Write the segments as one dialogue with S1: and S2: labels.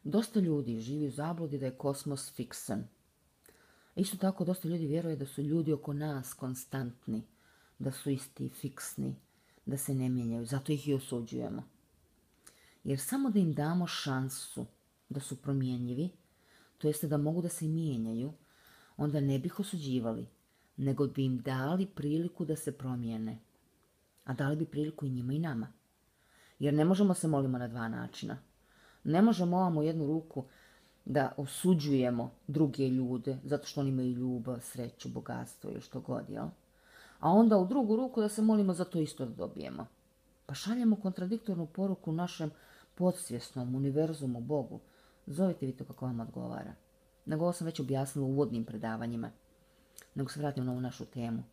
S1: Dosta ljudi živi u zabludi da je kosmos fiksan. Isto tako dosta ljudi vjeruje da su ljudi oko nas konstantni, da su isti, fiksni, da se ne mijenjaju, zato ih i osuđujemo. Jer samo da im damo šansu da su promjenjivi, to jeste da mogu da se mijenjaju, onda ne bih osuđivali, nego bi im dali priliku da se promijene. A dali bi priliku i njima i nama. Jer ne možemo se molimo na dva načina. Ne možemo ovamo jednu ruku da osuđujemo druge ljude zato što oni imaju ljubav, sreću, bogatstvo ili što god, jel? A onda u drugu ruku da se molimo za to isto da dobijemo. Pa šaljemo kontradiktornu poruku našem podsvjesnom univerzumu, Bogu. Zovite vi to kako vam odgovara. Nego ovo sam već objasnila u uvodnim predavanjima. Nego se vratim na ovu našu temu.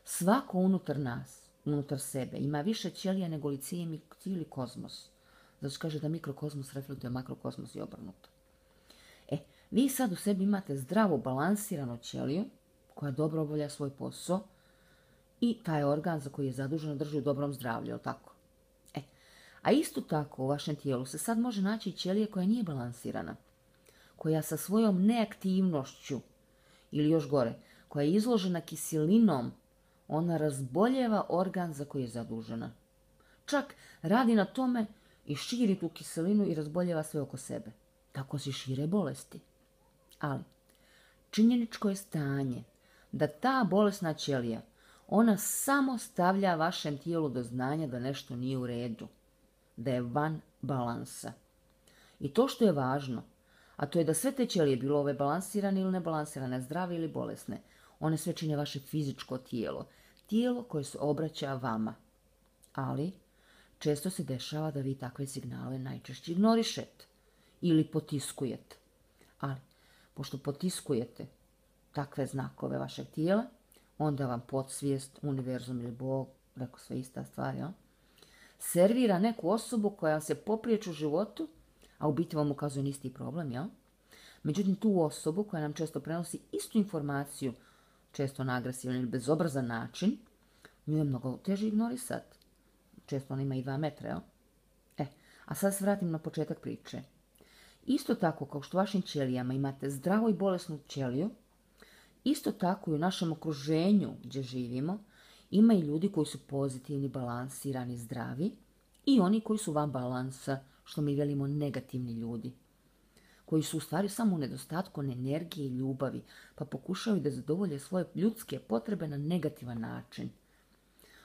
S1: Svako unutar nas, unutar sebe, ima više ćelija nego li cijeli kozmos. Zato se kaže da mikrokozmos reflektuje makrokosmos i obrnuto. Vi sad u sebi imate zdravu, balansiranu ćeliju koja dobro obavlja svoj posao i taj organ za koji je zadužen drži u dobrom zdravlju, jel tako? A isto tako u vašem tijelu se sad može naći ćelija koja nije balansirana, koja sa svojom neaktivnošću ili još gore, koja je izložena kiselinom, ona razboljeva organ za koji je zadužena. Čak radi na tome i širi tu kiselinu i razboljeva sve oko sebe. Tako se šire bolesti. Ali činjeničko je stanje da ta bolesna ćelija, ona samo stavlja vašem tijelu do znanja da nešto nije u redu, da je van balansa. I to što je važno, a to je da sve te ćelije, bilo ove balansirane ili nebalansirane, zdrave ili bolesne, one sve čine vaše fizičko tijelo, tijelo koje se obraća vama. Ali često se dešava da vi takve signale najčešće ignorišete ili potiskujete. Ali pošto potiskujete takve znakove vašeg tijela, onda vam podsvijest, univerzum ili Bog, rekao sve ista stvar, jel? Servira neku osobu koja vam se popriječi u životu, a u biti vam ukazuje na isti problem, jel? Međutim, tu osobu koja nam često prenosi istu informaciju, često na agresivan ili bezobrazan način, nju je mnogo teže ignorisati. Često ona ima i 2 metra, jel? A sad se vratim na početak priče. Isto tako kao što u vašim ćelijama imate zdravu i bolesnu ćeliju, isto tako i u našem okruženju gdje živimo ima i ljudi koji su pozitivni, balansirani, zdravi i oni koji su van balansa, što mi velimo negativni ljudi, koji su u stvari samo u nedostatku energije i ljubavi, pa pokušaju da zadovolje svoje ljudske potrebe na negativan način.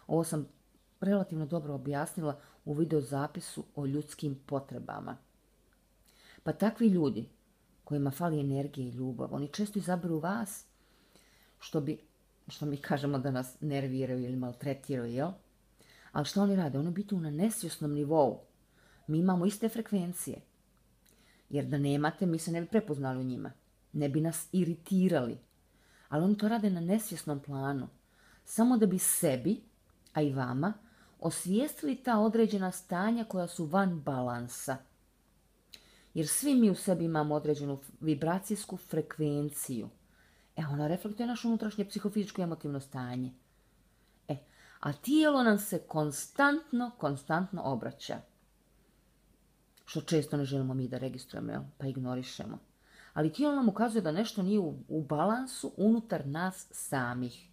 S1: Ovo sam relativno dobro objasnila u videozapisu o ljudskim potrebama. Pa takvi ljudi kojima fali energije i ljubav, oni često izaberu vas što mi kažemo da nas nerviraju ili maltretiraju, jel? Ali što oni rade? Oni biti na nesvjesnom nivou. Mi imamo iste frekvencije. Jer da nemate, mi se ne bi prepoznali u njima. Ne bi nas iritirali. Ali oni to rade na nesvjesnom planu. Samo da bi sebi, a i vama, osvijestili ta određena stanja koja su van balansa. Jer svi mi u sebi imamo određenu vibracijsku frekvenciju. Ona reflektuje naše unutrašnje psihofizičko i emotivno stanje. A tijelo nam se konstantno obraća. Što često ne želimo mi da registrujemo, pa ignorišemo. Ali tijelo nam ukazuje da nešto nije u balansu unutar nas samih.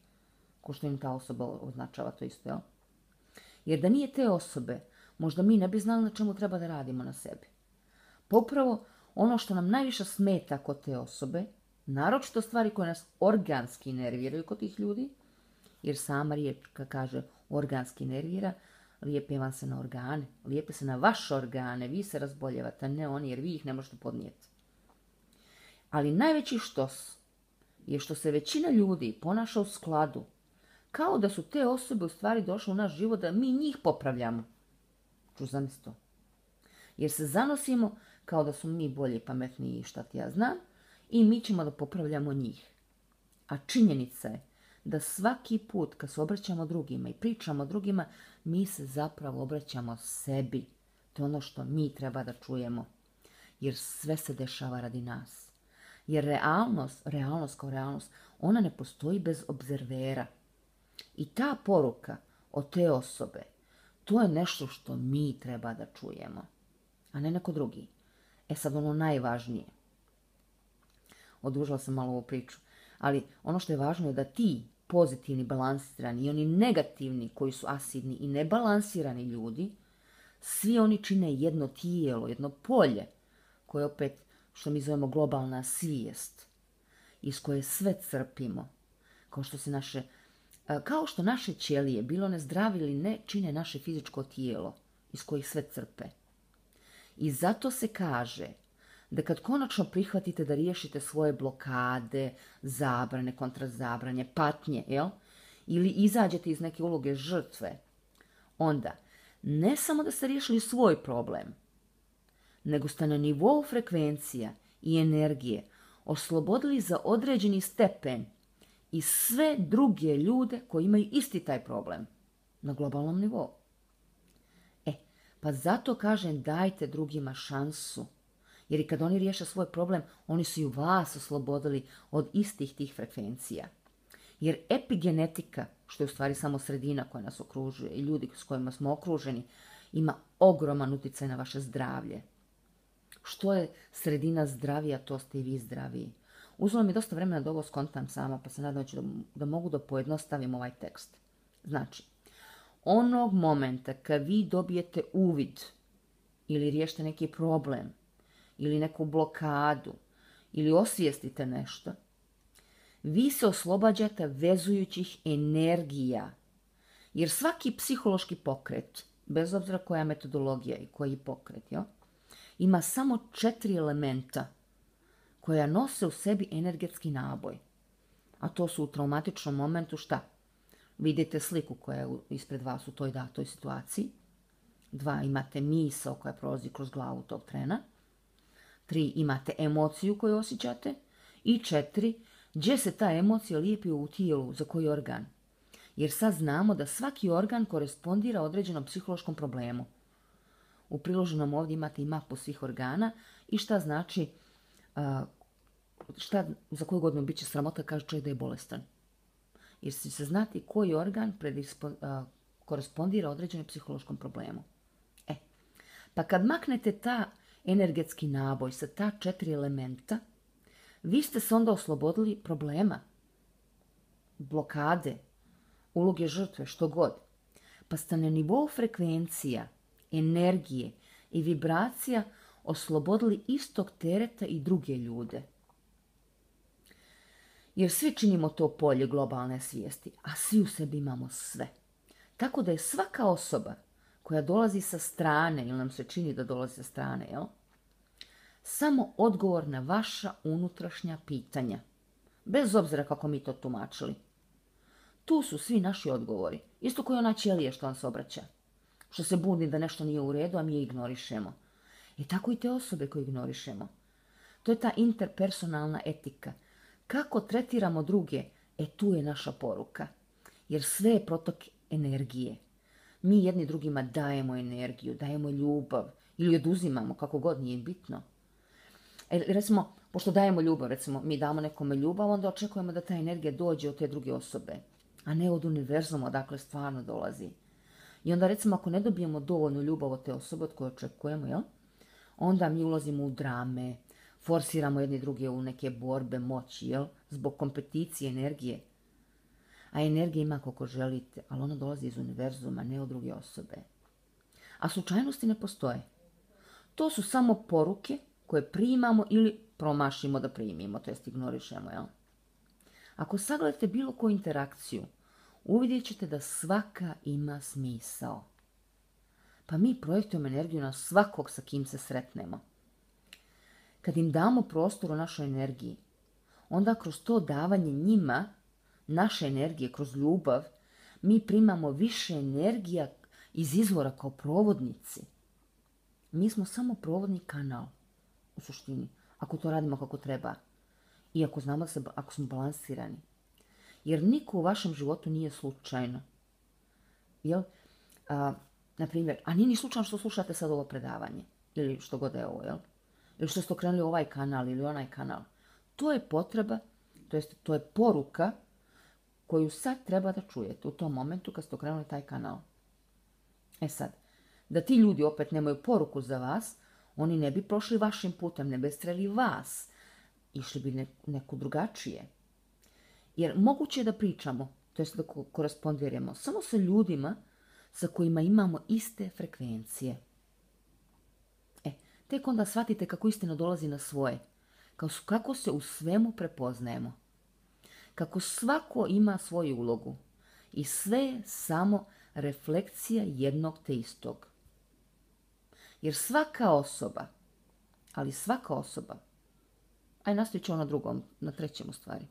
S1: Ko što im ta osoba označava to isto, jel? Jer da nije te osobe, možda mi ne bi znali na čemu treba da radimo na sebi. Pa upravo ono što nam najviše smeta kod te osobe, naročito stvari koje nas organski nerviraju kod tih ljudi, jer sama riječ kad kaže organski nervira, lijepe vam se na organe, lijepe se na vaše organe, vi se razboljevate, a ne oni, jer vi ih ne možete podnijeti. Ali najveći štos je što se većina ljudi ponaša u skladu, kao da su te osobe u stvari došle u naš život da mi njih popravljamo. Ču zamisli to. Jer se zanosimo kao da smo mi bolji, pametniji i šta ti ja znam, i mi ćemo da popravljamo njih. A činjenica je da svaki put kad se obraćamo drugima i pričamo drugima, mi se zapravo obraćamo sebi. To je ono što mi treba da čujemo. Jer sve se dešava radi nas. Jer realnost kao realnost, ona ne postoji bez obzervera. I ta poruka od te osobe, to je nešto što mi treba da čujemo, a ne neko drugi. E sad ono najvažnije. Odužila sam malo ovu priču. Ali ono što je važno je da ti pozitivni, balansirani i oni negativni koji su asidni i nebalansirani ljudi, svi oni čine jedno tijelo, jedno polje koje opet, što mi zovemo globalna svijest, iz koje sve crpimo, kao što naše ćelije, bilo one zdravi ili ne, čine naše fizičko tijelo, iz kojih sve crpe. I zato se kaže da kad konačno prihvatite da riješite svoje blokade, zabrane, kontrazabranje, patnje, ili izađete iz neke uloge žrtve, onda ne samo da ste riješili svoj problem, nego ste na nivou frekvencija i energije oslobodili za određeni stepen i sve druge ljude koji imaju isti taj problem na globalnom nivou. Pa zato kažem dajte drugima šansu. Jer i kad oni riješe svoj problem, oni su i vas oslobodili od istih tih frekvencija. Jer epigenetika, što je u stvari samo sredina koja nas okružuje i ljudi s kojima smo okruženi, ima ogroman utjecaj na vaše zdravlje. Što je sredina zdravija, to ste i vi zdraviji. Uzelo mi dosta vremena da ovo skontam sama, pa se nadam da mogu da pojednostavim ovaj tekst. Znači, onog momenta kad vi dobijete uvid ili riješite neki problem ili neku blokadu ili osvijestite nešto, vi se oslobađate vezujućih energija. Jer svaki psihološki pokret, bez obzira koja metodologija i koji pokret, ima samo 4 elementa koja nose u sebi energetski naboj. A to su u traumatičnom momentu šta? Vidite sliku koja je ispred vas u toj datoj situaciji. 2, imate misao koja prolazi kroz glavu tog trena. 3, imate emociju koju osjećate. I 4, gdje se ta emocija lijepi u tijelu, za koji organ. Jer sad znamo da svaki organ korespondira određenom psihološkom problemu. U priloženom ovdje imate i mapu svih organa i šta znači, za koju godinu bit će sramota, kaže čovjek da je bolestan. Jer će se znati koji organ korespondira određenom psihološkom problemu. Pa kad maknete ta energetski naboj sa ta 4 elementa, vi ste se onda oslobodili problema, blokade, uloge žrtve, što god. Pa ste na nivou frekvencija, energije i vibracija oslobodili istog tereta i druge ljude. Jer svi činimo to polje globalne svijesti, a svi u sebi imamo sve. Tako da je svaka osoba koja dolazi sa strane, ili nam se čini da dolazi sa strane, samo odgovor na vaša unutrašnja pitanja. Bez obzira kako mi to tumačili. Tu su svi naši odgovori. Isto kao ona ćelija što vam se obraća. Što se buni da nešto nije u redu, a mi je ignorišemo. I tako i te osobe koje ignorišemo. To je ta interpersonalna etika. Kako tretiramo druge? Tu je naša poruka. Jer sve je protok energije. Mi jedni drugima dajemo energiju, dajemo ljubav ili oduzimamo, kako god, nije bitno. Recimo, pošto dajemo ljubav, recimo, mi damo nekome ljubav, onda očekujemo da ta energija dođe od te druge osobe, a ne od univerzuma odakle stvarno dolazi. I onda, recimo, ako ne dobijemo dovoljnu ljubav od te osobe od koje očekujemo, onda mi ulazimo u drame, forsiramo jedni druge u neke borbe moći, zbog kompeticije energije. A energija ima koliko želite, ali ona dolazi iz univerzuma, ne od druge osobe. A slučajnosti ne postoje. To su samo poruke koje primamo ili promašimo da primimo, to jest ignorišemo, Ako sagledate bilo koju interakciju, uvidjet ćete da svaka ima smisao. Pa mi projektujemo energiju na svakog sa kim se sretnemo. Kad im damo prostor u našoj energiji, onda kroz to davanje njima, naše energije, kroz ljubav, mi primamo više energija iz izvora kao provodnici. Mi smo samo provodni kanal, u suštini, ako to radimo kako treba. I ako znamo ako smo balansirani. Jer niko u vašem životu nije slučajno. Naprimjer, a nije ni slučajno što slušate sad ovo predavanje. Ili što god je ovo, Ili što ste okrenuli ovaj kanal ili onaj kanal. To je potreba, to je poruka koju sad treba da čujete u tom momentu kad ste okrenuli taj kanal. Sad, da ti ljudi opet nemaju poruku za vas, Oni ne bi prošli vašim putem, ne bi sreli vas, išli bi neku drugačije. Jer moguće je da pričamo, to jest da korespondiramo, samo sa ljudima sa kojima imamo iste frekvencije. Tek onda shvatite kako istina dolazi na svoje, kako se u svemu prepoznajemo, kako svako ima svoju ulogu i sve je samo refleksija jednog te istog. Jer svaka osoba, nastavit ću na trećem u stvari,